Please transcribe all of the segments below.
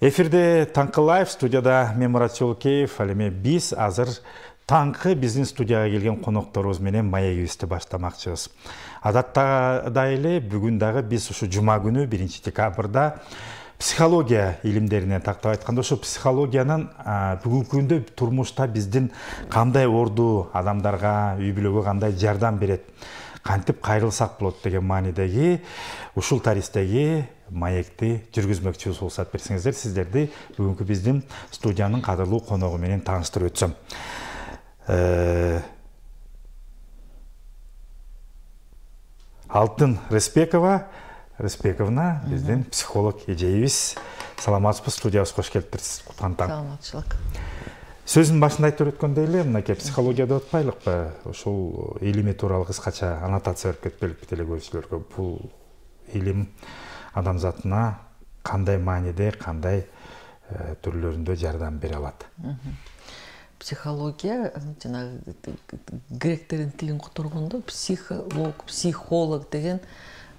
Эфирде Таңкы Лайв, студияда мен Мурат Жолкеев. Ал эми биз азыр таңкы биздин студияга келген конокторубуз менен маегибизди баштамакчыбыз. Адаттагыдай эле бүгүн дагы биз ушу жума күнү 1 декабрда психология илимдерине тактап айтканда ушу психологиянын бүгүнкү күндө турмушта биздин кандай орду, адамдарга, үй бүлөгө кандай жардам берет, кантип кайрылсак болот деген маанидеги ушул таристеги маекти жүргүзмөкчүбүз. Уруксат берсеңиздер, сиздерди бүгүнкү биздин студиянын кадырлуу коногу менен тааныштырып өтсөм. Алтын Респековна биздин психолог эжейибиз. Саламатсызбы, студиябызга кош келиптирсиз. Саламатчылык. Сөзүн башында айтып өткөндөй эле, мынакей психология деп атпайлыкпы? Ушул илими тууралуу кыскача аннотация берип кетпеликпи телекөрүүчүлөргө? Бул илим адамзатына кандай мааниде, кандай түрлөрүндө жардам бере алат? Психология, жанагы гректердин тилин которгондо психолог деген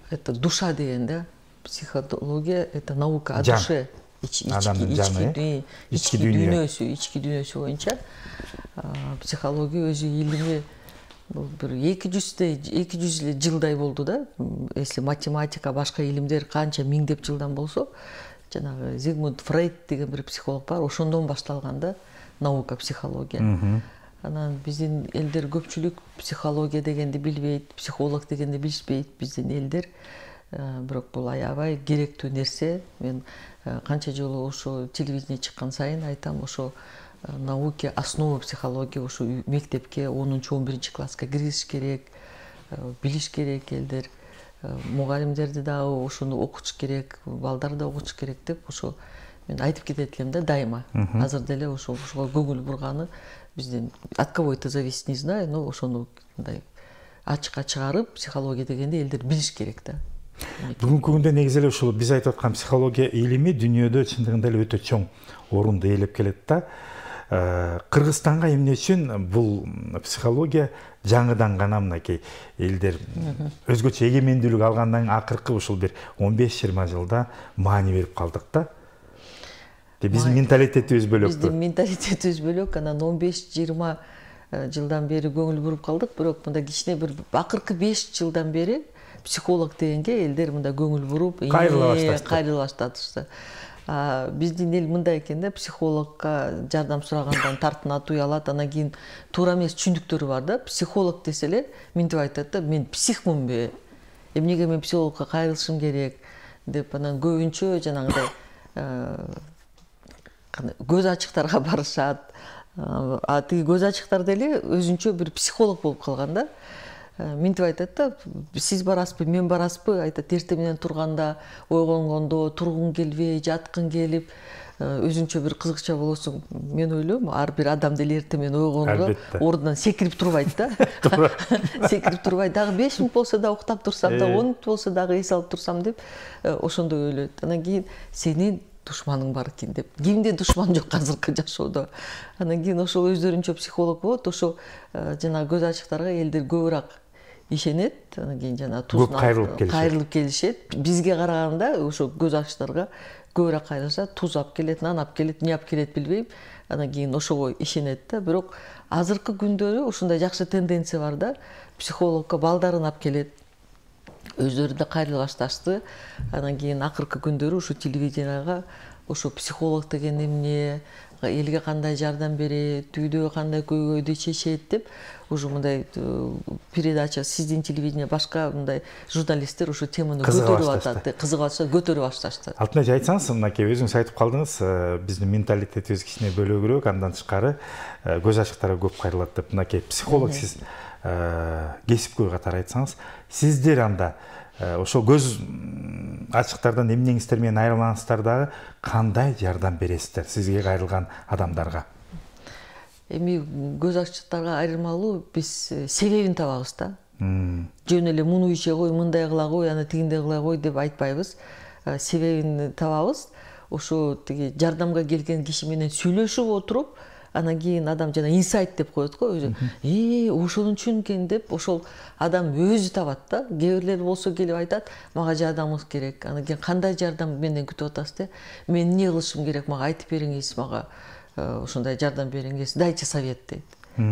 это душа деген да. Психология это наука о душе. Ички дүйнөсү боюнча психология өзү илими бир 200 жылдай болду да. Если математика, башка илимдер канча миңдеп жылдан болсо, жанагы Зигмунд Фрейд деген бир психолог бар, ошондон башталган да наука психология. Анан биздин элдер көпчүлүк психология дегенди билбейт, психолог дегенди билишпейт биздин элдер. Бирок бул аябай керектүү нерсе. Мен канча жолу ошо телевидение чыккан сайын айтам, ошо наука основа психология ошо мектепке 10-11 класска кириш керек, билиш керек элдер. Мугалимдерди дагы ошону окутуш керек, балдар да окутуш керек деп ошо мен айтып кетет элем да дайыма. Азыр деле ошого көңүл бурганы биздин от кого это зависит, не знаю, но ошону мындай ачыкка чыгарып, психология дегенди элдер билиш керек да. Бүгүнкү күндө негизи эле ушул биз айтып аткан психология илими дүйнөдө чындыгында эле өтө чоң орунду ээлеп келет да. Кыргызстанга эмне үчүн бул психология жаңыдан гана мынакей элдер өзгөчө эгемендүүлүк алгандан акыркы ушул бир 15-20 жылда маани берип калдык да. Биздин менталитетибиз бөлөк. Биздин менталитетибиз бөлөк, анан 15-20 жылдан бери көңүл буруп калдык, бирок мында кичине бир акыркы 5 жылдан бери психолог дегенге элдер мында көңүл буруп, кайрыла башташты. Биздин эл мындай экен да, психологко жардам сурагандан тартынат, уялат, анан кийин туура эмес түшүндүктөрү бар да. Психолог десе эле мынтип айтат да, мен психмунбу? Эмнеге мен психологко кайрылышым керек деп, анан көбүнчө жанагындай көз ачыктарга барышат. Тиги көз ачыктар деле өзүнчө бир психолог болуп калган да. Мынтип айтат да, сиз барасызбы, мен барасызбы? Айтат, эртең менен турганда, ойгонгондо тургуң келбей, жаткың келип, өзүнчө бир кызыкча болосуң. Мен ойлойм, ар бир адам деле эртең менен ойгонгондо ордунан секирип турбайт да. Секирип турбайт. Дагы 5 мүнөт болсо да уктап турсам да, 10 мүнөт болсо дагы эс алып турсам деп, ошондой ойлойт. Анан кийин сенин душманың бар экен деп. Кимде душман жок азыркы жашоодо. Анан кийин ошол өздөрүнчө психолог болот, ошо жана көз ачыктарга элдер көбүрөөк ишенет. Анан кийин жана тузуна кайрылып келишет. Бизге караганда ошо көз ачыктарга көбүрөөк кайрылышат, туз алып келет, нан алып келет, эмне алып келет билбейм. Анан кийин ошого ишенет да. Бирок азыркы күндөрү ушундай жакшы тенденция бар да. Психологко балдарын алып келет. Өздөрү да кайрыла башташты. Анан кийин акыркы күндөрү ушу телевиденияга ошо психолог деген эмне, элге кандай жардам берет, үйдө кандай көйгөйдү чечет деп уже мындай передача, сиздин телевидение, башка мындай журналисттер ошо теманы көтөрүп атат, кызыгып атышат, көтөрүп башташты. Алтын эже, айтсаңыз, мынакей өзүңүз айтып калдыңыз, биздин менталитетибиз кичине бөлөгүрөөк, андан тышкары көз ачыктарга көп кайрылат деп. Мынакей психолог сиз кесипкөй катары айтсаңыз, сиздер анда ошо көз ачыктардан эмнеңиздер менен айырылсаңыздар дагы кандай жардам бересиздер сизге кайрылган адамдарга? Эми көз ачыктарга айырмалуу биз себебин табабыз да. Жөн эле муну иче кой, мындай кыла кой, аны тигиндей кыла кой деп айтпайбыз. Себебин табабыз. Ошо тиги жардамга келген киши менен сүйлөшүп отуруп, анан кийин адам жана инсайт деп коет го өзү. Ошону үчүн экен деп ошол адам өзү табат да. Кээ бирлер болсо келип айтат, мага жардамыңыз керек. Анан кийин кандай жардам менден күтүп атасыз деп, мен эмне кылышым керек, мага айтып бериңиз, мага ошондой жардам бериңиз, дайте совет дейт.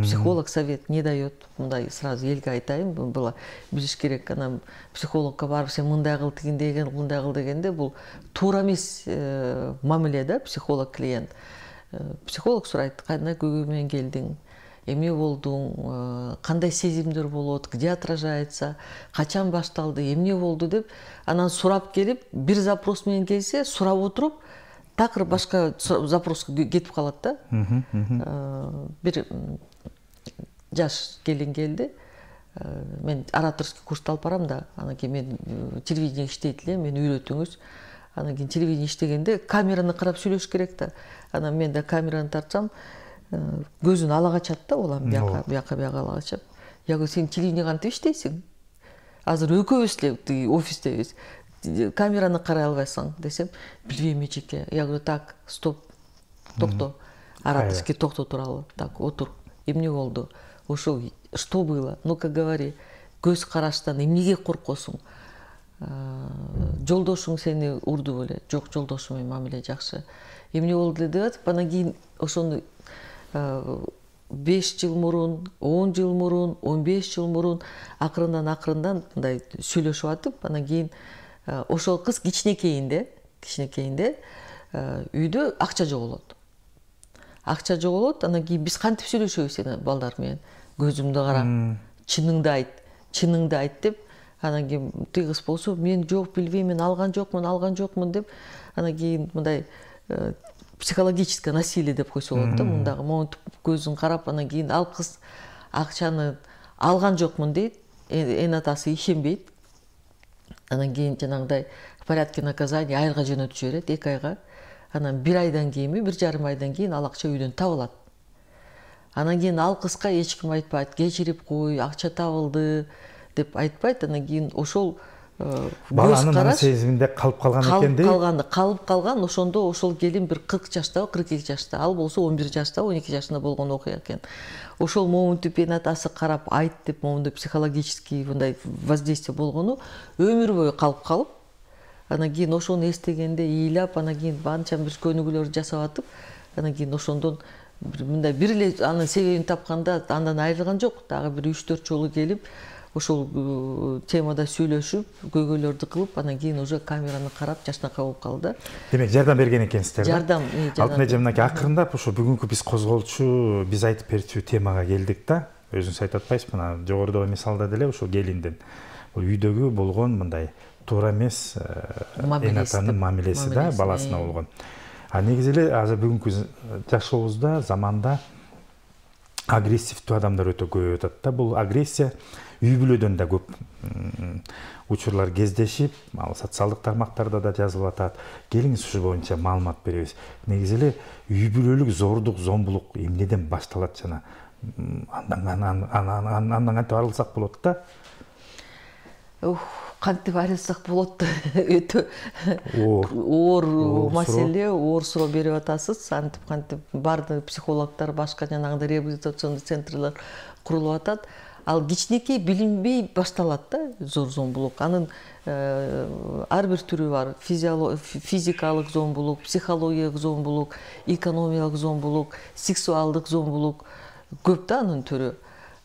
Психолог совет не дает. Мындай сразу элге айтайын, була билиш керек. Анан психологко барып сен мындай кыл, тигиндей кыл, мындай кыл дегенде бул туура эмес мамиле да, психолог клиент. Психолог сурайт, кандай көйгөй менен келдиң, эмне болдуң, кандай сезимдер болот, где отражается, качан башталды, эмне болду деп анан сурап келип, бир запрос менен келсе, сурап отуруп, такыр башка запроско кетип калат да. Бир жаш келин келди. Мен ораторский курсту алып барам да, анан кийин мен телевидение иштейт элем, мени үйрөтүңүз. Анан кийин телевидение иштегенде камераны карап сүйлөш керек да. Анан мен да камераны тартсам, көзүн ала качат да, улам бияка ала качып. Я говорю, сен телевидение кантип иштейсиң? Азыр экөөбүз эле офистебиз. Камераны карай албайсың десем, билбейм эчеке. Я говорю, так, стоп, токто. Ораторский токто туралы. Так, отур. Эмне болду? Ошо что было? Ну-ка говори. Көз караштан эмнеге коркосуң? Жолдошуң сени урду беле? Жок, жолдошум менен мамиле жакшы. Эмне болду деп атып, анан кийин ошону 5 жыл мурун, 10 жыл мурун, 15 жыл мурун акырындан мындай сүйлөшүп атып, анан кийин ошол кыз кичинекейинде үйдө акча жоголот. Анан кийин биз кантип сүйлөшөбүз эне балдар менен? Көзүмдү кара, чыныңды айт деп, анан кийин тиги кыз болсо, мен жок билбейм, мен алган жокмун деп, анан кийин мындай психологическое насилие деп койсо болот да, мындагы монтип көзүн карап, анан кийин ал кыз акчаны алган жокмун дейт, эн атасы ишенбейт. Анан кийин жанагындай в порядке наказания айылга жөнөтүп жиберет, 2 айга. Анан 1 айдан кийинби, 1,5 айдан кийин ал акча үйдөн табылат. Анан кийин ал кызга эч ким айтпайт, кечирип кой, акча табылды деп айтпайт. Анан кийин ошол баланын сезиминде калып калган экен дейт. Калып калган, ошондо ошол келин бир 40 жаштабы, 42 жашта, ал болсо 11 жашта, 12 жашында болгон окуя экен. Ошол момунтип эн атасы карап айт деп, момундай психологический мындай воздействие болгону өмүр бою калып, анан кийин ошону эстегенде ыйлап, анан кийин анча бир көнүгүүлөр жасап атып, анан кийин ошондон мындай бир эле анын себебин тапканда андан айрылган жок, дагы бир 3-4 жолу келип, ошол темада сүйлөшүп, көйгөйлөрдү кылып, анан кийин уже камераны карап жашнакай болуп калды. Демек, жардам берген экенсиздер. Жардам. Алтын эже, мынакей акырындап ошо бүгүнкү биз козголчу, биз айтып берчү темага келдик да. Өзүңүз айтып атпайсызбы, мына жогорудагы мисалда деле ошо келиндин бул үйдөгү болгон мындай туура эмес эн атанын мамилеси да, баласына болгон. А негизи эле азыр бүгүнкү жашообузда, заманда агрессивдүү адамдар өтө көп атат да. Бул агрессия үй бүлөдөн да көп учурлар кездешип, ал социалдык тармактарда да жазылып атат. Келиңиз ушул боюнча маалымат беребиз. Негизи эле үй бүлөлүк зордук, зомбулук эмнеден башталат жана андан кантип арылсак болот да? Кантип арылсак болот? Өтө оор маселе, оор суроо берип атасыз. Кантип бардык психологдор, башка жанагындай реабилитационный центрлер курулуп атат. Ал кичинекей билинбей башталат да, зор зомбулук. Анын ар бир түрү бар. Физикалык зомбулук, психологиялык зомбулук, экономиялык зомбулук, сексуалдык зомбулук көп да анын түрү.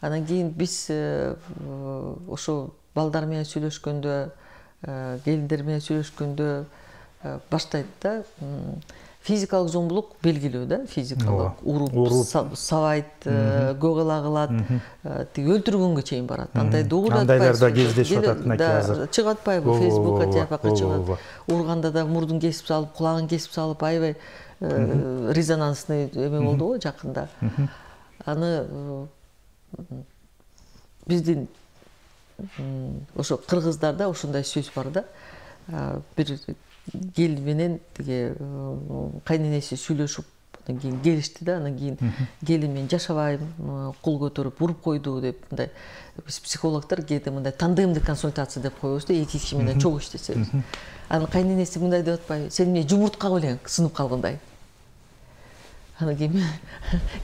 Анан кийин биз ошо балдар менен сүйлөшкөндө, келиндер менен сүйлөшкөндө баштайт да. Физикалык зомбулук белгилүү да, физикалык уруп, сабайт, көөгала кылат, тиги өлтүргөнгө чейин барат. Андай догура андайлар да кездешип атат мынакей азыр. Чыгып атпайбы, Фейсбукка жапакка чыгат. Урганда да мурдун кесип салып, кулагын кесип салып, аябай резонансный эме болду го жакында. Аны биздин ошо кыргыздарда ошондой сөз бар да. Бир келин менен тиги кайненеси сүйлөшүп, андан кийин келишти да, андан кийин келин мен жашабайм, кол көтөрүп уруп койду деп, мындай биз психологдор кээде мындай тандемдик консультация деп коебуз да, 2 киши менен чогуу иштесебиз. Анын кайненеси мындай деп атпайбы, сен эмне жумуртка белең сынып калгандай. Анан кийин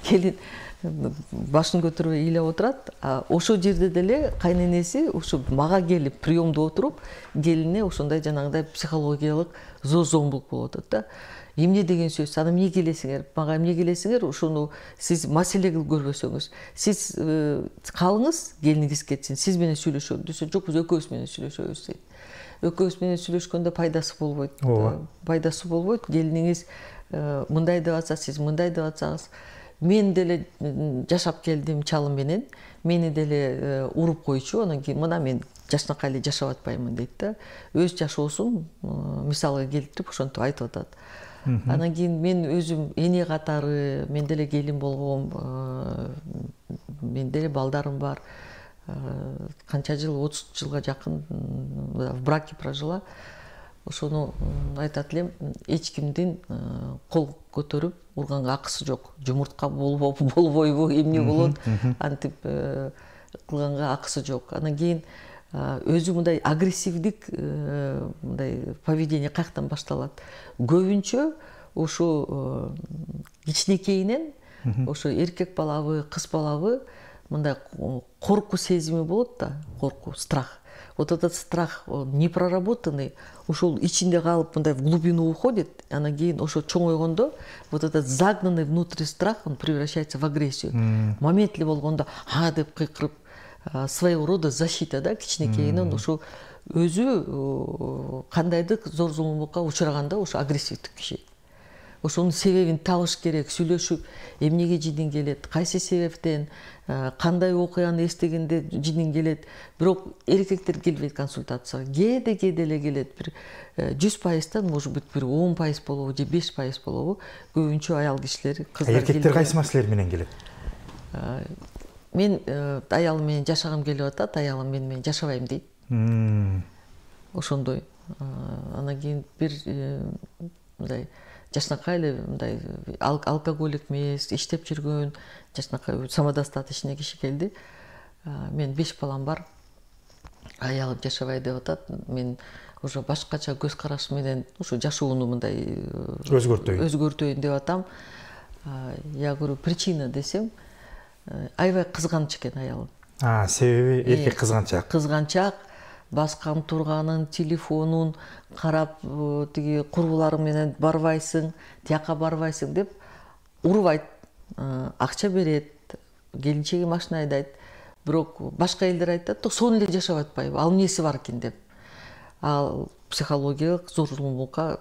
келин башын көтөрбөй ыйлап отурат. Ошол жерде деле кайненеси ушу мага келип приемдо отуруп, келине ошондой жанагындай психологиялык зомбулук болуп атат да. Эмне деген сөз? Аны эмне келесиңер? Мага эмне келесиңер? Ошону сиз маселе кылып көрбөсөңүз, сиз калыңыз, келиниңиз кетсин, сиз менен сүйлөшөлү десе, жок, биз экөөбүз менен сүйлөшөбүз дейт. Экөөбүз менен сүйлөшкөндө пайдасы болбойт. Пайдасы болбойт. Келиниңиз мындай деп атса, сиз мындай деп атсаңыз, мен деле жашап келдим чалым менен, мени деле уруп койчу, анан кийин мына мен жашнакай эле жашап атпаймын дейт да. Өз жашоосун мисалга келтирип ошентип айтып атат. Анан кийин мен өзүм эне катары, мен деле келин болгом, мен деле балдарым бар. Канча жыл, 30 жылга жакын в браке прожила. Ошону айтат элем, эч кимдин кол көтөрүп урганга акысы жок. Жумуртка болбойбу, эмне болот, антип кылганга акысы жок. Анан кийин өзү мындай агрессивдик мындай поведение каяктан башталат? Көбүнчө ушу кичинекейинен ошо эркек балабы, кыз балабы мындай коркуу сезими болот да, коркуу, страх. Вот этот страх, он непроработанный, ушул ичинде калып мындай в глубину уходит, анан кийин ошо чоңойгондо вот этот загнанный внутри страх, он превращается в агрессию. Момент эле болгондо деп кыйкырып, своего рода защита да, кичинекейинен ушу өзү кандайдыр зор зулумдукка учураганда ушу агрессивдик киши. Ошонун себебин табыш керек, сүйлөшүп, эмнеге жиниң келет, кайсы себептен, кандай окуяны эстегенде жиниң келет. Бирок эркектер келбейт консультацияга. Кээде эле келет. Бир 100%, может быть, бир 10% болобу, же 5% болобу. Көбүнчө аял кишилер, кыздар. Эркектер кайсы маселелер менен келет? Мен аялым менен жашагым келип атат, аялым менен жашабайм дейт. Ошондой. Анан кийин бир мындай жашнакай эле мындай алкоголик эмес, иштеп жүргөн, жашнакай самодостаточный киши келди. Мен 5 балам бар. Аялым жашабай деп атат. Мен уже башкача көз караш менен ушу жашоону мындай өзгөртөйүн деп атам. Я говорю, причина десем, аябай кызганыч экен аялым. Себеби эркек кызганчак. Кызганчак, баскан турганын, телефонун карап, тиги курбуларың менен барбайсың, тияка барбайсың деп урбайт, акча берет, келинчеги машина айдайт. Бирок башка элдер айтат, сону эле жашап атпайбы, ал эмнеси бар экен деп. Ал психологиялык зор зулумдукка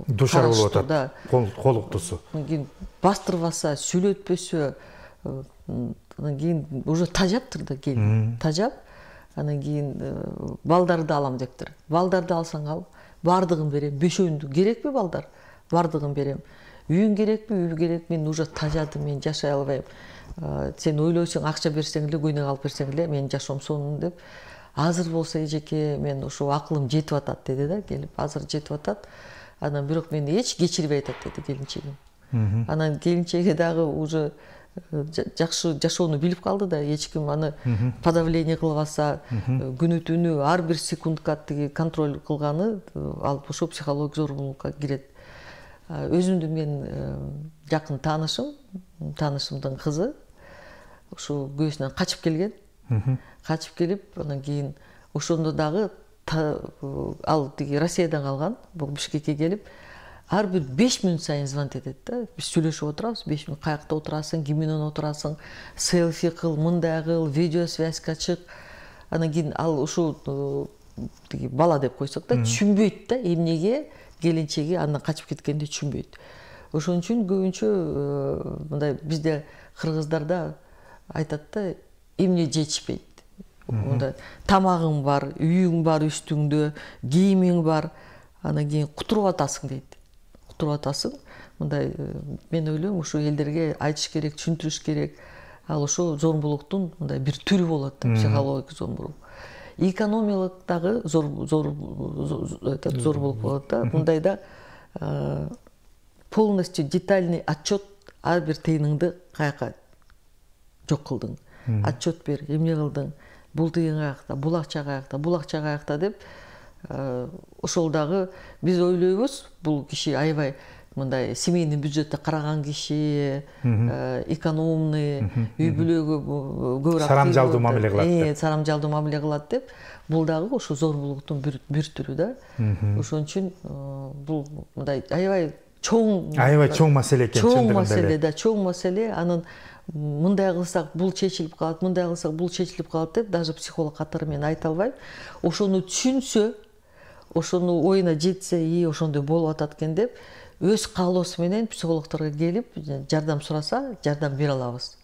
душар болуп атат. Колуктусу. Кийин бастырбаса, сүйлөтпөсө, анан кийин уже тажаптыр да келин. Тажап, анан кийин балдарды алам дептир. Балдарды алсаң ал, бардыгын берем. Бешөөндү керекпи балдар? Бардыгын берем. Үйүң керекпи? Үй керек. Мен уже тажадым, мен жашай албайм. Сен ойлойсуң, акча берсең эле, көйнөк алып берсең эле, мен жашоом сонун деп. Азыр болсо эжеке, мен ошо акылым жетип атат деди да, келип. Азыр жетип атат. Анан бирок мени эч кечирбей атат деди келинчегим. Анан келинчеги дагы уже жакшы жашоону билип калды да, эч ким аны подавление кылбаса, күнү түнү ар бир секундка тиги контроль кылганы алып ошо психологик зорлукка кирет. Өзүмдүн мен жакын таанышымдын кызы ушу күйөөсүнөн качып келген. Качып келип, анан кийин ошондо дагы ал тиги Россиядан калган, бул Бишкекке келип, ар бир 5 мүнөт сайын звонить этет да. Биз сүйлөшүп отурабыз, 5 мүнөт каякта отурасың, ким менен отурасың, селфи кыл, мындай кыл, видео связьга чык. Анан кийин ал ушул тиги бала деп койсок да, түшүнбөйт да, эмнеге келинчеги андан качып кеткенди түшүнбөйт. Ошон үчүн көбүнчө мындай бизде кыргыздарда айтат да, эмне жетишпейт. Мындай тамагың бар, үйүң бар үстүңдө, кийимиң бар, анан кийин кутуруп атасың дейт. Кутуруп атасың. Мындай мен ойлойм, ушу элдерге айтыш керек, түшүндүрүш керек. Ал ошо зомбулуктун мындай бир түрү болот да, психологик зомбулук. Экономиялык дагы зорбулук болот да. Мындайда полностью детальный отчет ар бир тыйыныңды каяка жок кылдың. Отчет бер, эмне кылдың, бул тыйын каякта, бул акча каякта, бул акча каякта деп ошол дагы биз ойлойбуз, бул киши аябай мындай семейный бюджетте караган киши, экономный, үй бүлөгө көбүрөөк сарамжалдуу мамиле кылат. Сарамжалдуу мамиле кылат деп, бул дагы ошо зорбулуктун бир түрү да. Ошон үчүн бул мындай аябай чоң маселе экен. Чоң маселе да, чоң маселе. Анын мындай кылсак бул чечилип калат, мындай кылсак бул чечилип калат деп даже психолог катары мен айта албайм. Ошону түшүнсө, ошону оюна жетсе, ошондой болуп атат экен деп, өз каалоосу менен психологдорго келип, жардам сураса, жардам бере алабыз.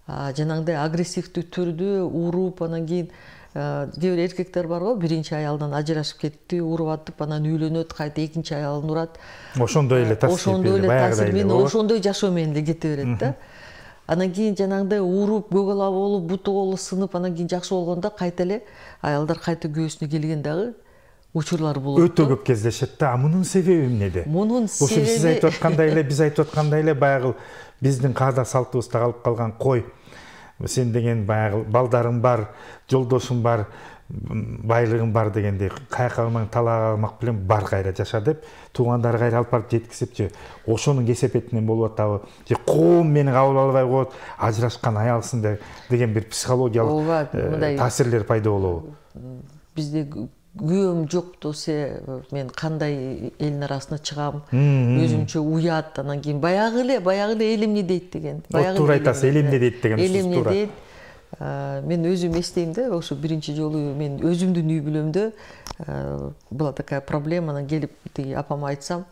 Жанагындай агрессивдүү түрдө уруп, анан кийин кээ бир эркектер бар го, биринчи аялдан ажырашып кетти, уруп атып, анан үйлөнөт, кайта экинчи аялын урат. Ошондой эле таасир менен, ошондой жашоо менен эле кете берет да. Анан кийин жанагындай уруп, көгала болуп, буту колу сынып, анан кийин жакшы болгондо кайта эле аялдар кайта күйөөсүнө келген дагы учурлар болот. Өтө көп кездешет да. Мунун себеби эмнеде? Мунун себеби сиз айтып аткандай эле, биз айтып аткандай эле баягы биздин каада салтыбызда калып калган кой. Сен деген баягы балдарың бар, жолдошуң бар, байлыгың бар дегендей, каяка алмаң, талак алмак билен бар кайра жаша деп, туугандары кайра алып барып жеткизип же ошонун кесепетинен болуп атабы, же коом мени кабыл албай коет, ажырашкан аялсың деген бир психологиялык таасирлер пайда болобу? Бизде күйөөм жок десе, мен кандай элдин арасына чыгам, өзүмчө уят, анан кийин баягы эле эл эмне дейт деген. Туура айтасыз, эл эмне дейт деген сөз туура. Мен өзүм эстейм да, ошо биринчи жолу мен өзүмдүн үй бүлөмдө была такая проблема, анан келип апама айтсам,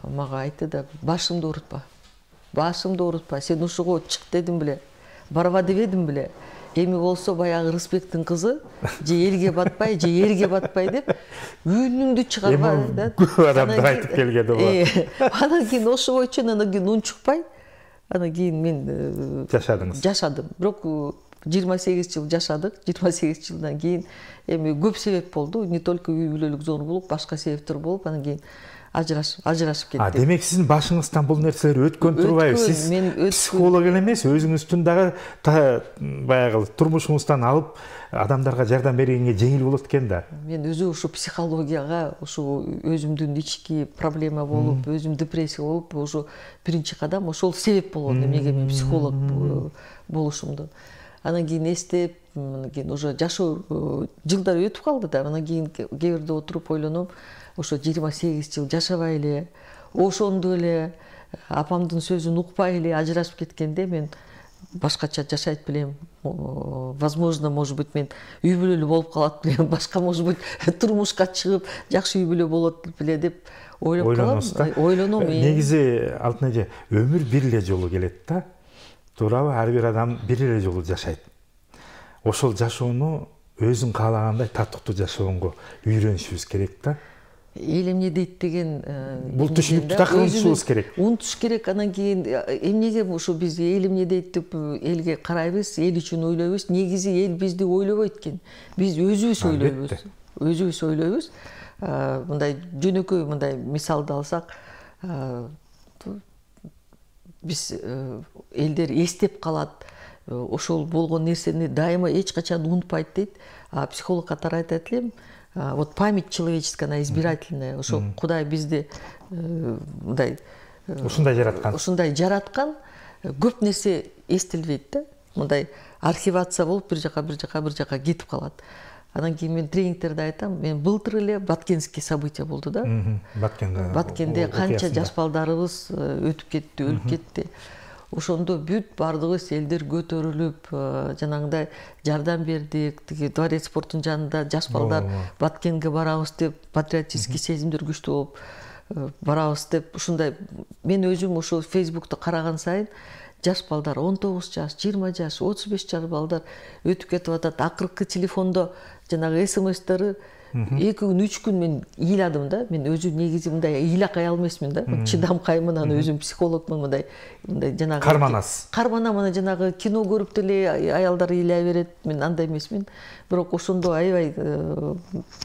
мага айтты да, башымды оорутпа, сен ушуга чык дедим беле, барба дебедим беле. Эми болсо баягы Рысбектин кызы же элге батпай, же эрге батпай деп үнүңдү чыгарба да. Көп адамдар айтып келген да. Анан кийин ошо боюнча анан кийин унчукпай, анан кийин мен жашадым. Бирок 28 жыл жашадык. 28 жылдан кийин эми көп себеп болду. Не только үй бүлөлүк зорбулук, башка себептер болуп, анан кийин ажырашып кеттик. Демек сиздин башыңыздан бул нерселер өткөн турбайбы? Сиз психолог эле эмес, өзүңүздүн дагы баягы турмушуңуздан алып адамдарга жардам бергенге жеңил болот экен да. Мен өзү ушу психологияга, ушу өзүмдүн ички проблема болуп, өзүм депрессия болуп, ушу биринчи кадам ошол себеп болгон эмнеге мен психолог болушумду. Анан кийин эстеп, анан кийин уже жашоо жылдар өтүп калды да, анан кийин кээ бирде отуруп ойлоном, ошо 28 жыл жашабай эле, ошондо эле апамдын сөзүн укпай эле ажырашып кеткенде мен башкача жашайт белем. Возможно, может быть, мен үй бүлөлүү болуп калат белем, башка, может быть, турмушка чыгып, жакшы үй бүлө болот беле деп ойлоп калам. Ойлоном. Негизи Алтын эже, өмүр бир эле жолу келет да. Туурабы? Ар бир адам бир эле жолу жашайт. Ошол жашоону өзүң каалагандай татыктуу жашоого үйрөнүшүбүз керек да. Эл эмне дейт деген бул түшүнүктү так унутушубуз керек. Унутуш керек. Анан кийин эмнеге ушу биз эл эмне дейт деп элге карайбыз, эл үчүн ойлойбуз. Негизи эл бизди ойлобойт экен. Биз өзүбүз ойлойбуз. Мындай жөнөкөй мындай мисалды алсак, биз элдер эстеп калат, ошол болгон нерсени дайыма эч качан унутпайт дейт. Психолог катары айтат элем, вот память человеческая, она избирательная. Ошо Кудай бизди мындай ушундай жараткан, көп нерсе эстелбейт да. Мындай архивация болуп бир жака кетип калат. Анан кийин мен тренингтерде айтам, мен былтыр эле Баткенский события болду да. Баткенде канча жаш балдарыбыз өтүп кетти, өлүп кетти. Ошондо бүт бардыгыбыз элдер көтөрүлүп, жанагындай жардам бердик. Тиги дворец спорттун жанында жаш балдар Баткенге барабыз деп, патриотический сезимдер күчтүү болуп барабыз деп, ушундай мен өзүм ошо Facebook'та караган сайын жаш балдар 19 жаш, 20 жаш, 35 жаш балдар өтүп кетип атат. Акыркы телефондо жанагы СМСтери 2 күн, 3 күн мен ыйладым да. Мен өзүм негизи мындай ыйлакай эмесмин да. Чыдамкаймын, аны өзүм психологмун, мындай жанагы карманам, аны жанагы кино көрүп деле аялдар ыйлай берет. Мен андай эмесмин. Бирок ошондо аябай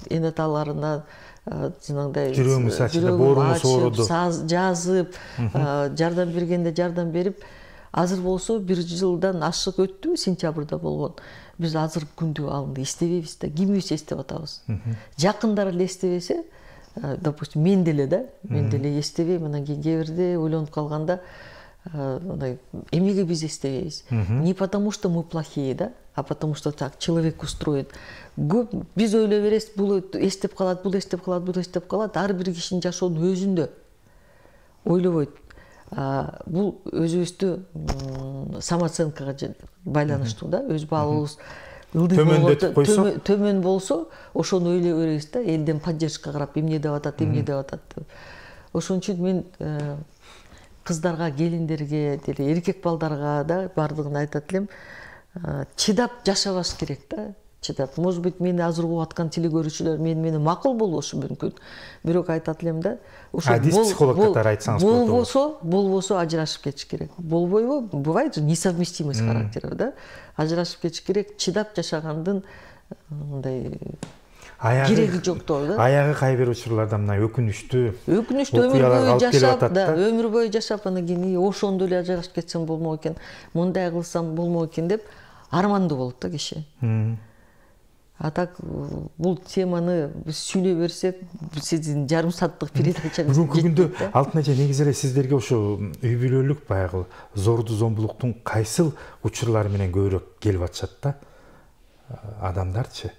энеталарына жанагындай жүрөгүмүз ачылды, боорумуз ооруду, жазып, жардам бергенде жардам берип, азыр болсо 1 жылдан ашык өттү, сентябрда болгон. Биз азыр күндү алынды эстебейбиз да, кимибиз эстеп атабыз. Жакындар эле эстебесе, допустим мен деле эстебейм, анан кийин кээ бирде ойлонуп калганда мындай эмнеге биз эстебейбиз? Не потому что мы плохие, да, а потому что так человек устроен. Көп биз ойлой беребиз, бул эстеп калат, бул эстеп калат, бул эстеп калат. Ар бир кишинин жашоонун өзүндө ойлобойт. Бул өзүбүздү самооценкага байланыштуу да, өз баалыбыз төмөн болсо ошону ойлой беребиз да, элден поддержка карап эмне деп атат, эмне деп атат. Ошон үчүн мен кыздарга, келиндерге, деле эркек балдарга да бардыгына айтат элем, чыдап жашабаш керек да. Чыдап. Может быть, мени азыр угуп аткан теле-көрүүчүлөр менен макул болбошу мүмкүн. Бирок айтат элем да, ошо психолог катары айтсаңыз болбосо ажырашып кетиш керек. Болбойбу? Бывает же несовместимость характеров, да? Ажырашып кетиш керек, чыдап жашагандын мындай кереги жок да. Аягы кай бир учурларда мына өкүнүчтүү өмүр бою жашап, өмүр бою жашап, анан кийин ошондо эле ажырашып кетсем болмок экен, мындай кылсам болмок экен деп армандуу болот да киши. А так бул теманы биз сүйлөй берсек, сиздин жарым сааттык передачаңыз бүгүнкү күндө Алтын эже негизи эле сиздерге ошо үй бүлөлүк баягы зорду зомбулуктун кайсыл учурлары менен көбүрөөк келип атышат да адамдарчы?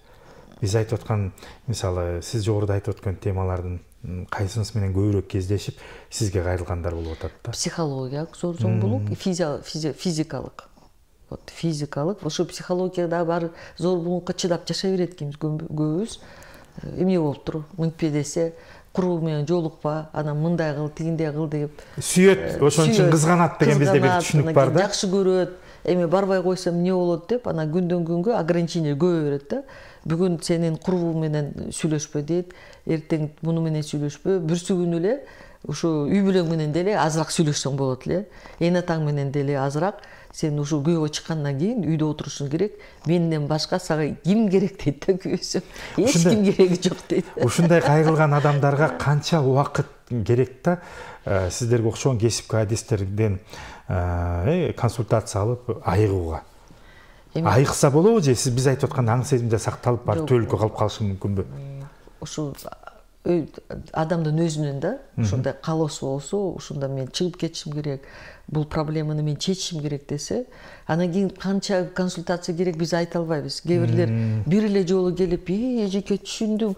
Биз айтып аткан, мисалы, сиз жогоруда айтып аткан темалардын кайсынысы менен көбүрөөк кездешип, сизге кайрылгандар болуп атат да? Психологиялык зор зомбулук, физикалык. Вот физикалык, ошо психологияда бар зорбулукка чыдап жашай берет экенбиз көбүбүз. Эмне болуптур? Мынтпе десе, курбу менен жолукпа, анан мындай кыл, тигиндей кыл деп. Сүйөт, ошон үчүн кызганат деген бизде бир түшүнүк бар да. Жакшы көрөт, эми барбай койсом эмне болот деп, анан күндөн күнгө ограничение көбөйө берет да. Бүгүн сенин курбуң менен сүйлөшпө дейт, эртең муну менен сүйлөшпө, бүрсү күнү эле ушу үй бүлөң менен деле азыраак сүйлөшсөң болот эле. Эне атаң менен деле азыраак. Сен ушу күйөөгө чыккандан кийин үйдө отурушуң керек. Менден башка сага ким керек дейт да күйөөсү. Эч ким кереги жок дейт. Ушундай кайрылган адамдарга канча убакыт керек да? Сиздерге окшогон кесипкөй адистерден консультация алып айыгууга. Айыкса болобу же сиз биз айтып аткан аң сезимде сакталып барып түбөлүккө калып калышы мүмкүнбү? Ошо адамдын өзүнөн да, ошондой каалоосу болсо, ошондо мен чыгып кетишим керек, бул проблеманы мен чечишим керек десе, анан кийин канча консультация керек биз айта албайбыз. Кээ бирлер бир эле жолу келип, эжеке түшүндүм,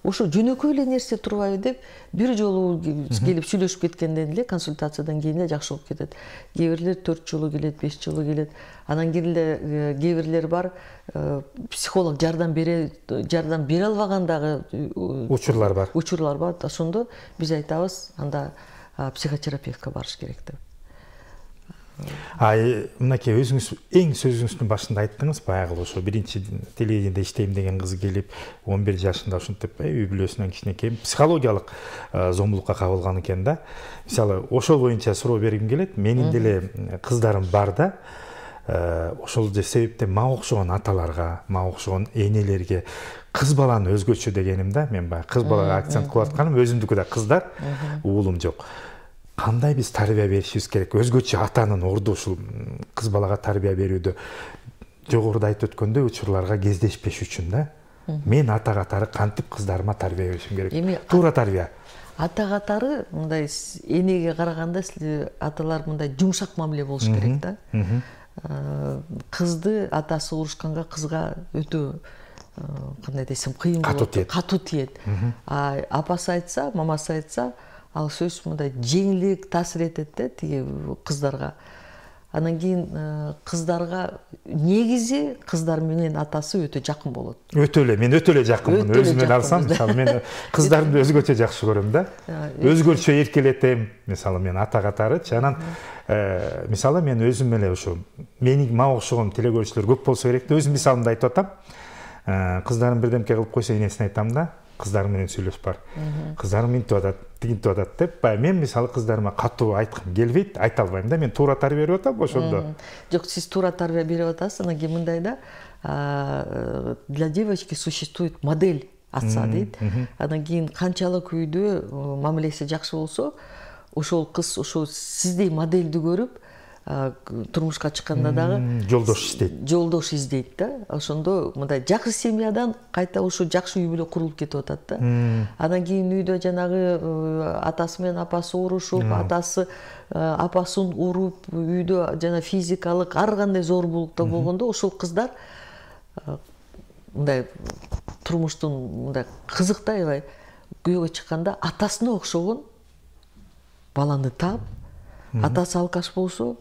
ошо жөнөкөй эле нерсе турбайбы деп, бир жолу келип сүйлөшүп кеткенден эле консультациядан кийин эле жакшы болуп кетет. Кээ бирлер 4 жолу келет, 5 жолу келет. Анан кийин эле кээ бирлер бар, психолог жардам бере албагандагы учурлар бар. Учурлар бар. Ошондо биз айтабыз, анда психотерапевтке барыш керек деп. Мынакей өзүңүз эң сөзүңүздүн башында айттыңыз, баягы ошо биринчи телевидениеде иштейм деген кыз келип 11 жашында ушинтип үй бүлөсүнөн кичинекей психологиялык зомбулукка кабылган экен да. Мисалы, ошол боюнча суроо бергим келет. Менин деле кыздарым бар да. Ошол себептен мага окшогон аталарга, мага окшогон энелерге кыз баланы өзгөчө дегеним да. Мен баягы кыз балага акцент кылып атканым, өзүмдүкү да кыздар, уулум жок. Кандай биз тарбия беришибиз керек? Өзгөчө атанын орду ушул кыз балага тарбия берүүдө жогоруда айтып өткөндөй учурларга кездешпеш үчүн да. Мен ата катары кантип кыздарыма тарбия беришим керек? Туура тарбия. Ата катары мындай энеге караганда аталар мындай жумшак мамиле болуш керек да. Кызды атасы урушканга кызга өтө кандай десем кыйын болот, катуу тиет. Апасы айтса, мамасы айтса, ал сөз мындай жеңилирээк таасир этет да тиги кыздарга. Анан кийин кыздарга негизи кыздар менен атасы өтө жакын болот. Өтө эле, мен өтө эле жакынмын. Өзүмөн алсам, мисалы, мен кыздарды өзгөчө жакшы көрөм да. Өзгөчө эркелетем, мисалы, мен ата катарычы. Анан мисалы, мен өзүм эле ошо мага окшогон теле-көрүүчүлөр көп болсо керек деп өзүм мисалымды айтып атам. Кыздарым бирдемке кылып койсо, энесине айтам да. Кыздарым менен сүйлөшүп бар. Кыздарым минтип атат, тигинтип атат деп, мен мисалы кыздарыма катуу айткым келбейт, айта албайм да. Мен туура тарбия берип атам ошондо. Жок, сиз туура тарбия берип атасыз. Анан кийин мындай да, для девочки существует модель отца дейт. Анан кийин канчалык үйдө мамилеси жакшы болсо, ошол кыз ошол сиздей модельди көрүп, турмушка чыкканда дагы жолдош издейт да. Ошондо мындай жакшы семьядан кайта ушу жакшы үй бүлө курулуп кетип атат да. Андан кийин үйдө жанагы атасы менен апасы урушуп, атасы апасын уруп, үйдө жана физикалык ар кандай зорбулукта болгондо ошол кыздар мындай турмуштун мындай кызыктай аябай күйөөгө чыкканда атасына окшогон баланы таап, атасы алкаш болсо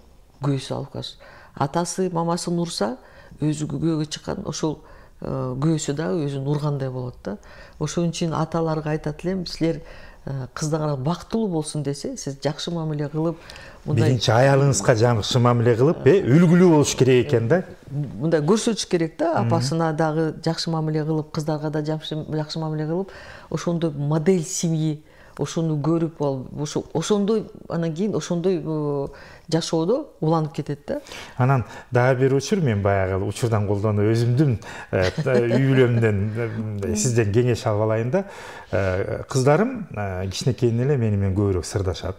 күйөөсү алкаш, атасы мамасын урса өзү күйөөгө чыккан ошол күйөөсү дагы өзүн ургандай болот да. Ошон үчүн аталарга айтат элем, силер кыздарыңар бактылуу болсун десе, сиз жакшы мамиле кылып, биринчи аялыңызга жакшы мамиле кылып, үлгүлүү болуш керек экен да. Мындай көрсөтүш керек да, апасына дагы жакшы мамиле кылып, кыздарга да жакшы мамиле кылып, ошондой модель семьи, ошону көрүп алып, ошондой анан кийин ошондой жашоодо уланып кетет да. Анан дагы бир учур, мен баягы учурдан колдонуп өзүмдүн үй бүлөмдөн сизден кеңеш алып алайын да. Кыздарым кичинекейинен эле мени менен көбүрөөк сырдашат.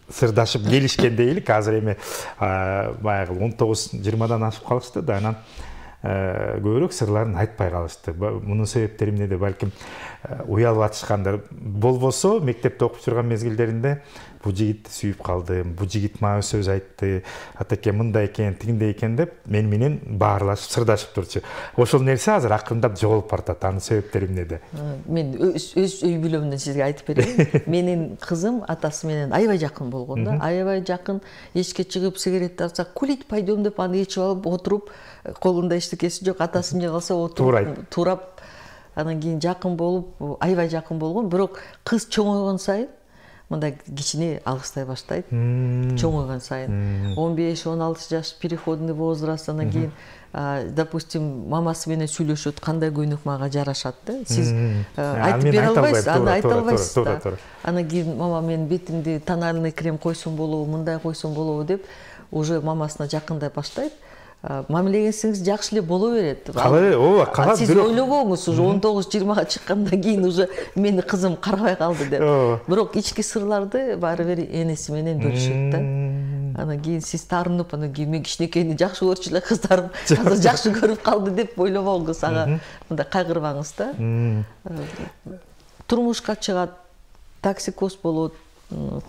Сырдашып келишкенде элек, азыр эми баягы 19-20дан ашып калышты да, анан көбүрөөк сырларын айтпай калышты. Мунун себептери эмнеде? Балким уялып атышкандар болбосо, мектепте окуп жүргөн мезгилдеринде бу жигитти сүйүп калдым, бу жигит мага сөз айтты, атаке мындай экен, тигиндей экен деп мени менен баарлашып, сырдашып турчу. Ошол нерсе азыр акырындап жоголуп баратат. Анын себептери эмнеде? Мен өз үй бүлөмдөн сизге айтып берейин. Менин кызым атасы менен аябай жакын болгон да, аябай жакын. Эчке чыгып сигарет тартса, курить пойдем деп аны ичип алып отуруп, колунда эчтекеси жок, атасы эмне калса отуруп, турап, анан кийин жакын болуп, аябай жакын болгон. Бирок кыз чоңойгон сайын мындай кичине алыстай баштайт. Чоңойгон сайын 15-16 жаш переходный возраст, анан кийин допустим мамасы менен сүйлөшөт, кандай көйнөк мага жарашат да. Сиз айтып бере албайсыз, аны айта албайсыз да. Анан кийин мама мен бетимди тональный крем койсом болобу, мындай койсом болобу деп уже мамасына жакындай баштайт. Мамилеңиз жакшы эле боло берет. Сиз ойлобоңуз, уже 19-20га чыккандан кийин уже мени кызым карабай калды деп. Бирок ички сырларды баары бир энеси менен бөлүшөт да. Анан кийин сиз таарынып, анан кийин мен кичинекейни жакшы көрчү эле кыздарым азыр жакшы көрүп калды деп ойлобоңуз, ага мындай кайгырбаңыз да. Турмушка чыгат, токсикоз болот,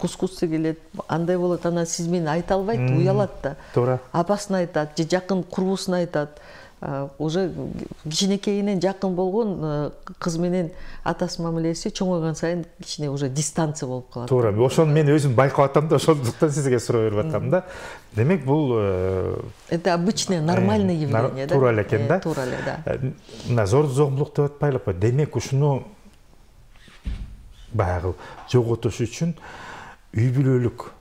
кускусы келет, андай болот, анан сиз мени айта албайт, уялат да. Туура. Апасына айтат, же жакын курбусуна айтат. Уже кичинекейинен жакын болгон кыз менен атасы мамилеси чоңойгон сайын кичине уже дистанция болуп калат. Туура. Ошону мен өзүм байкап атам да, ошондуктан сизге суроо берип атам да. Демек бул это обычное нормальное явление да. Туура эле экен да. Туура эле да. Мына зомбулук деп атпайлыкпы? Демек ушуну баягы жоготуш үчүн үй бүлөлүк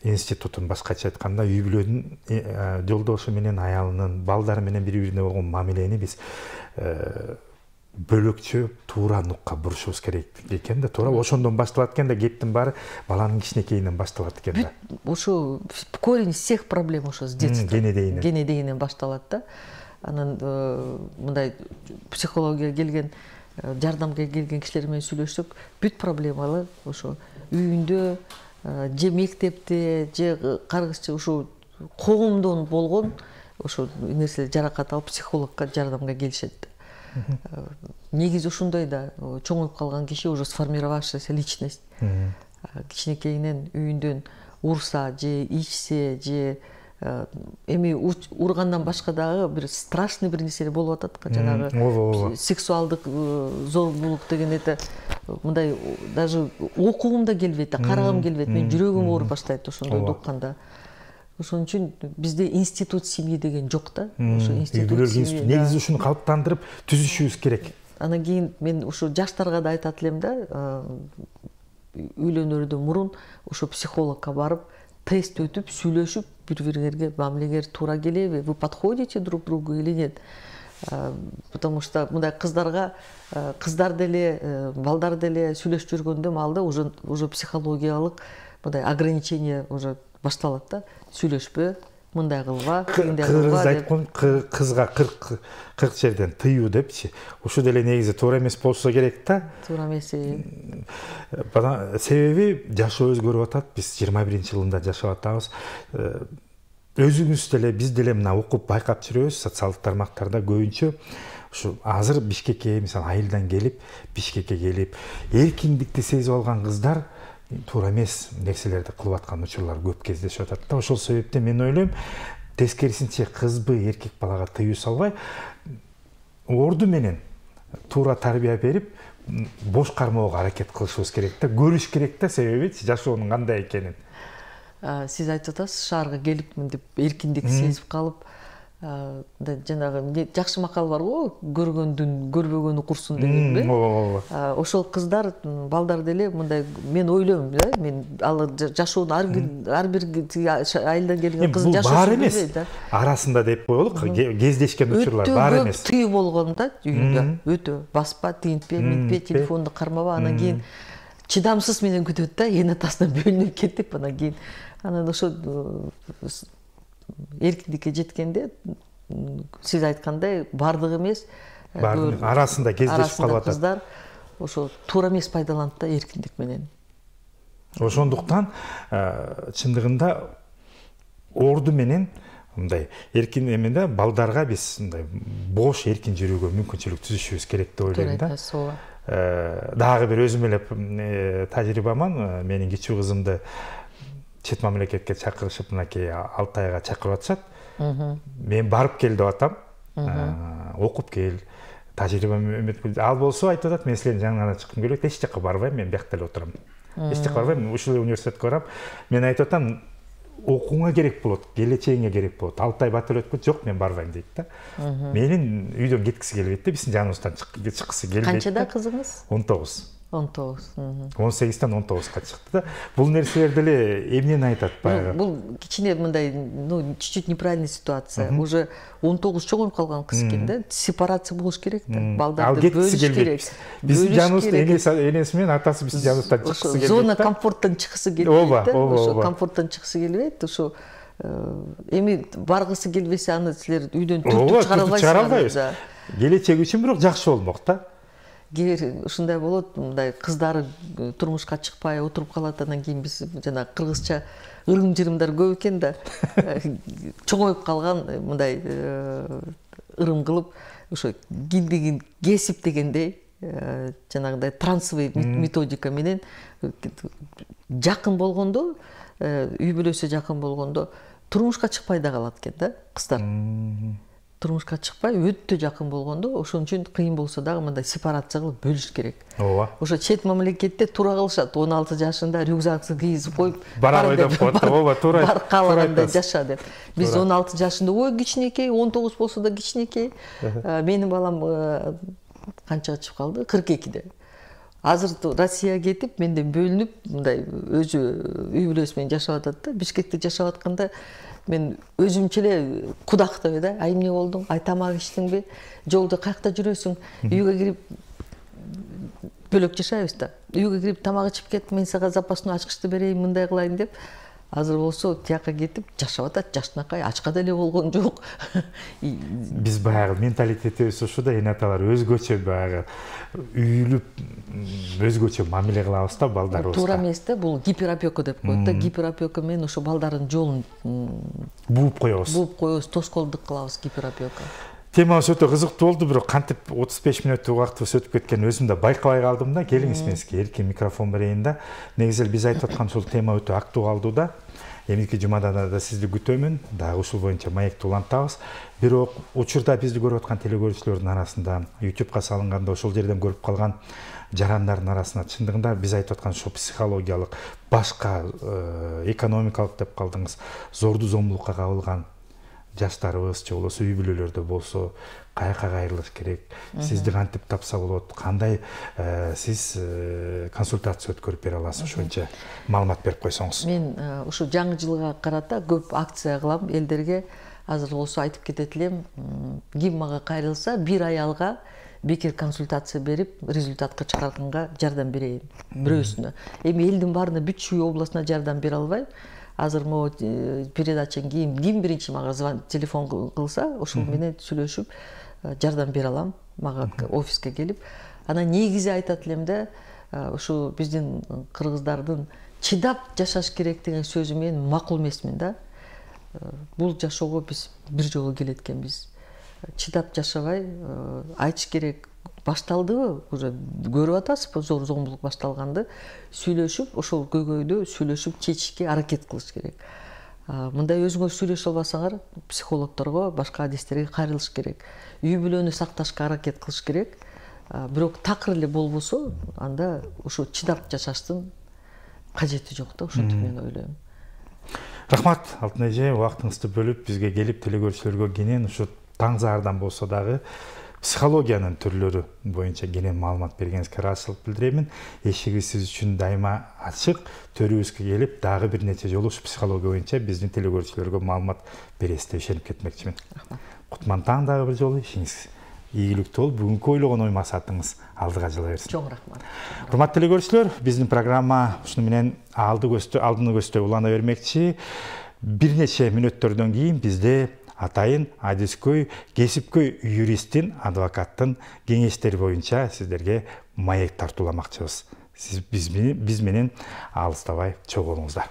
институтун, башкача айтканда үй бүлөнүн жолдошу менен аялынын, балдары менен бири-бирине болгон мамилени биз бөлөкчө туура нукка бурушубуз керек экен да. Туура ошондон башталат экен да, кептин баары баланын кичинекейинен башталат экен да. Ошо корень всех проблем ошо с детства. Генедейинен башталат да. Анан мындай психология келген, жардамга келген кишилер менен сүйлөшсөк, бүт проблемалар ошо үйүндө, же мектепте, же каргышчы ошо коомдон болгон ошо нерселер жаракат алып психологко жардамга келишет. Негизи ушундай да, чоңоюп калган киши уже сформировавшаяся личность. Кичинекейинен үйүндөн урса, же ичсе, же эми ургандан башка дагы бир страшный бир нерселер болуп атат, жанагы сексуалдык зорбулук деген это мындай даже окугум да келбейт, карагым келбейт, мен жүрөгүм ооруп баштайт ошондойду укканда. Ошон үчүн бизде институт семьи деген жок да. Ошо институт семьи негизи ушуну калыптандырып түзүшүбүз керек. Анан кийин мен ошо жаштарга да айтат элем да, үйлөнөрдөн мурун ошо психологко барып тест өтүп, сүйлөшүп, бири-бириңерге мамилеңер туура келеби, вы подходите друг другу или нет? Потому что мындай кыздарга, кыздар деле, балдар деле сүйлөшүп жүргөндө маалда уже психологиялык мындай ограничение уже башталат да. Сүйлөшпө, мындай кылба, кыргыз айткан кызга 40 жерден тыюу депчи. Ушул деле негизи туура эмес болсо керек да. Туура эмес. Себеби жашоо өзгөрүп атат. Биз 21-жылында жашап атабыз. Өзүңүз деле, биз деле мына окуп байкап жүрөбүз, социалдык тармактарда көбүнчө ушу азыр Бишкекке, мисалы айылдан келип, Бишкекке келип, эркиндикти сезип алган кыздар туура эмес нерселерди кылып аткан учурлар көп кездешип атат да. Ошол себептен мен ойлойм, тескерисинче кызбы, эркек балага тыюу салбай, орду менен туура тарбия берип, бош кармоого аракет кылышыбыз керек да, көрүш керек да, себеби жашоонун кандай экенин. Сиз айтып атасыз, шаарга келипмин деп эркиндик сезип калып, жанагы жакшы макал бар го, көргөндүн көрбөгөнү курсун дегенби. Ошол кыздар, балдар деле мындай, мен ойлойм да, мен ал жашоонун ар бир айылдан келген кыз жашоосун бар эмес. Арасында деп коелук, кездешкен учурлар бар эмес. Өтө тыюу болгон да үйүндө. Өтө баспа, тинтпе, митпе, телефонду кармаба, анан кийин чыдамсыз менен күтөт да, эн атасынан бөлүнүп кетип, анан кийин анан ошо эркиндикке жеткенде сиз айткандай бардыгы эмес, арасында кездешип калып атат. Кыздар ошо туура эмес пайдаланат да эркиндик менен. Ошондуктан чындыгында орду менен мындай эркин эменде балдарга биз мындай бош эркин жүрүүгө мүмкүнчүлүк түзүшүбүз керек деп ойлойм да. Дагы бир өзүм эле тажрыйбаман, менин кичүү кызымды чет мамлекетке чакырышып, мынакей Алтайга чакырып атышат. Мен барып кел деп атам. Окуп кел. Тажрыйбам ал болсо айтып атат, мен силердин жаңыңардан чыккым келбейт, эч жака барбайм, мен биякта эле отурам. Эч жака барбайм, ушул университетке барам. Мен айтып атам, окууңа керек болот, келечегиңе керек болот. Алтай бат эле өтпөйт, жок, мен барбайм дейт да. Менин үйдөн кеткиси келбейт да, биздин жаныбыздан чыккысы келбейт. Канчада кызыңыз? 19. 18. 18-тен 19-га чыкты да. Бул нерселер деле эмнени айтат баягы? Бул кичине мындай, чуть-чуть неправильный ситуация. Уже 19 чоңоюп калган кыз экен да. Сепарация болуш керек да. Балдарды бөлүш керек. Биздин жаныбызда энеси менен атасы биздин жаныбыздан чыккысы келбейт. Зона комфорттон чыккысы келбейт да. Ошо комфорттон чыккысы келбейт. Ошо эми баргысы келбесе, аны силер үйдөн түртүп чыгара албайсыз. Келечеги үчүн бирок жакшы болмок да. Кээ ушундай болот, мындай кыздары турмушка чыкпай отуруп калат, анан кийин биз жана кыргызча ырым-жырымдар көп экен да. Чоңоюп калган мындай ырым кылып, ошо киндигин кесип дегендей, жанагындай трансовый методика менен жакын болгондо, үй бүлөсү жакын болгондо турмушка чыкпай да калат экен да кыздар. Турмушка чыкпай өтө жакын болгондо, ошон үчүн кыйын болсо дагы мындай сепарация кылып бөлүш керек. Ооба. Ошо чет мамлекетте туура кылышат, 16 жашында рюкзаксын кийизип коюп, бара ойдоп коет. Ооба, туура. Бар каалагандай жаша деп. Биз 16 жашында ой кичинекей, 19 болсо да кичинекей. Менин балам канчага чыгып калды? 42-де. Азыр Россияга кетип, менден бөлүнүп, мындай өзү үй бүлөсү менен жашап атат да. Бишкекте жашап атканда мен өзүмчө эле кудактап да, ай эмне болдуң, ай тамак ичтиңби, жолдо каякта жүрөсүң, үйгө кирип бөлөк жашайбыз да. Үйгө кирип тамак ичип кет, мен сага запасной ачкычты берейин, мындай кылайын деп. Азыр болсо тияка кетип жашап атат, жашынакай, ачка деле болгон жок. Биз баягы менталитетибиз ушу да, эне аталар өзгөчө баягы үйүлүп өзгөчө мамиле кылабыз да балдарыбызга. Туура эмес да, бул гиперопека деп коет да. Гиперопека менен ошо балдардын жолун бууп коебуз, тоскоолдук кылабыз гиперопека. Темабыз өтө кызыктуу болду, бирок кантип 35 мүнөттүк убактыбыз өтүп кеткенин өзүм да байкабай калдым да. Келиңиз мен сизге эркин микрофон берейин да. Негизи биз айтып аткан ушул тема өтө актуалдуу да. Эмики жумада да сизди күтөмүн, дагы ушул боюнча маекти улантабыз. Бирок учурда бизди көрүп аткан телекөрүүчүлөрдүн арасында, YouTubeга салынганда ошол жерден көрүп калган жарандардын арасында чындыгында биз айтып аткан ушул психологиялык, башка экономикалык деп калдыңыз, зорду зомбулукка кабылган жаштарыбыз же болбосо үй бүлөлөрдө болсо каяка кайрылыш керек, сизди кантип тапса болот, кандай сиз консультация өткөрүп бере аласыз, ошончо маалымат берип койсоңуз. Мен ушу жаңы жылга карата көп акция кылам элдерге. Азыр болсо айтып кетет элем, ким мага кайрылса, бир аялга бекер консультация берип, результатка чыгарганга жардам берейин бирөөсүнө. Эми элдин баарына бүт Чүй областына жардам бере албайм. азыр могу передачадан ким биринчи мага телефон кылса ошол менен сүйлөшүп жардам бере алам мага офиске келип. Анан негизи айтат элем да, ушу биздин кыргыздардын чыдап жашаш керек деген сөзү мен макул эмесмин да. Бул жашоого биз бир жолу келет экенбиз. Чыдап жашабай айтыш керек. Башталдыбы? Уже көрүп атасызбы, зор зомбулук башталганды. Сүйлөшүп, ошол көйгөйдү сүйлөшүп чечишке аракет кылыш керек. Мындай өзүңөр сүйлөшө албасаңар, психологторго, башка адистерге кайрылыш керек. Үй бүлөнү сакташка аракет кылыш керек. Бирок такыр эле болбосо, анда ушу чыдап жашаштын кажети жок да, ошентип мен ойлойм. Рахмат, Алтын эже, убактыңызды бөлүп бизге келип телекөрүүчүлөргө кенен ушу таң заардан болсо дагы психологиянын түрлөрү боюнча кенен маалымат бергениңизге ыраазычылык билдиремин. Эшигибиз сиз үчүн дайыма ачык. Төрүбүзгө келип дагы бир нече жолу ушу психология боюнча биздин телекөрүүчүлөргө маалымат бересиз деп ишенип кетмекчимин. Кутман таң дагы бир жолу ишиңиз ийгиликтүү болуп, бүгүнкү ойлогон ой максатыңыз алдыга жыла берсин. Чоң рахмат. Урматтуу телекөрүүчүлөр, биздин программа ушуну менен алдыны көздөй улана бермекчи. Бир нече мүнөттөрдөн кийин бизде атайын адискөй, кесипкөй юристтин, адвокаттын кеңештери боюнча сиздерге маек тартууламакчыбыз. Сиз биз менен алыстабай чогуу болуңуздар.